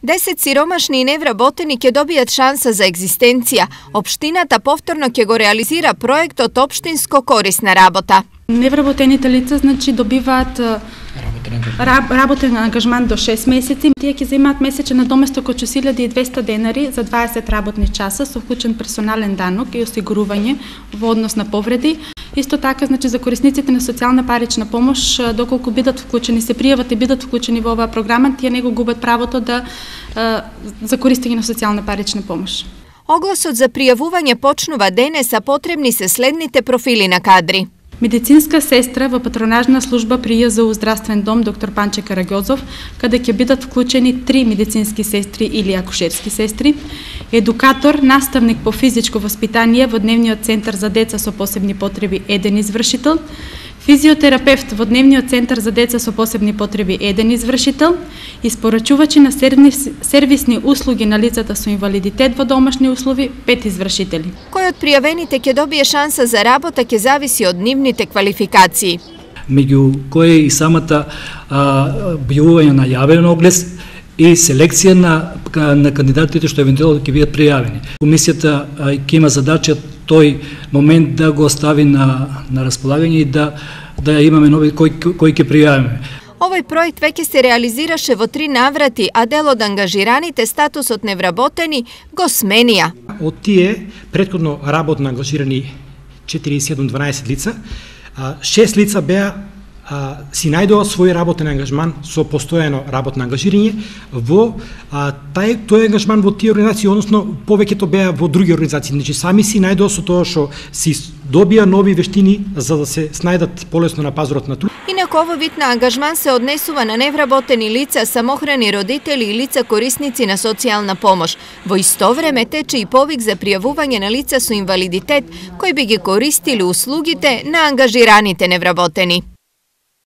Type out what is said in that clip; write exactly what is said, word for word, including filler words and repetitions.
Десет сиромашни и невработени ќе добијат шанса за екзистенција. Општината повторно ќе го реализира проектот Општинско корисна работа. Невработените лица значи добиваат раб, работен ангажман до шест месеци. Тие ќе земаат месечен надоместок од шест илјади и двесте денари за дваесет работни часа со вклучен персонален данок и осигурување во однос на повреди. Исто така, значи, за корисниците на социјална парична помош, доколку бидат вклучени, се пријават и бидат вклучени во оваа програма, тие не го губат правото да за користење на социјална парична помош. Огласот за пријавување почнува денес, а потребни се следните профили на кадри. Медицинска сестра во патронажна служба при Ја З У здравствен дом доктор Панче Караѓозов, каде ќе бидат вклучени три медицински сестри или акушерски сестри, едукатор, наставник по физичко воспитание во дневниот центар за деца со посебни потреби еден извршител, физиотерапевт во дневниот центар за деца со посебни потреби еден извршител, испорачувачи на сервисни услуги на лицата со инвалидитет во домашни услови пет извршители. Кој од пријавените ќе добие шанса за работа ќе зависи од нивните квалификации. Меѓу кои и самата објавување на јавен оглед и селекција на, на кандидатите што евентуално ќе бидат пријавени. Комисијата ќе има задача тој момент да го стави на, на располагање и да, да имаме нови кои, кои ќе пријавиме. Овој проект веќе се реализираше во три наврати, а дел од ангажираните статусот невработени го сменија. Од тие претходно работно ангажирани четири седум дванаесет лица, шест лица беа А, си најдоа свој работен ангажман со постојано работно ангажирање во а, тај тој ангажман во тие организации, односно повеќето беа во други организации. Значи сами си најдоа со тоа што си добија нови вештини за да се снајдат полесно на пазарот на труд. Инаку овој вид на ангажман се однесува на невработени лица, самохрани родители и лица корисници на социјална помош. Во исто време тече и повик за пријавување на лица со инвалидитет кои би ги користили услугите на ангажираните невработени.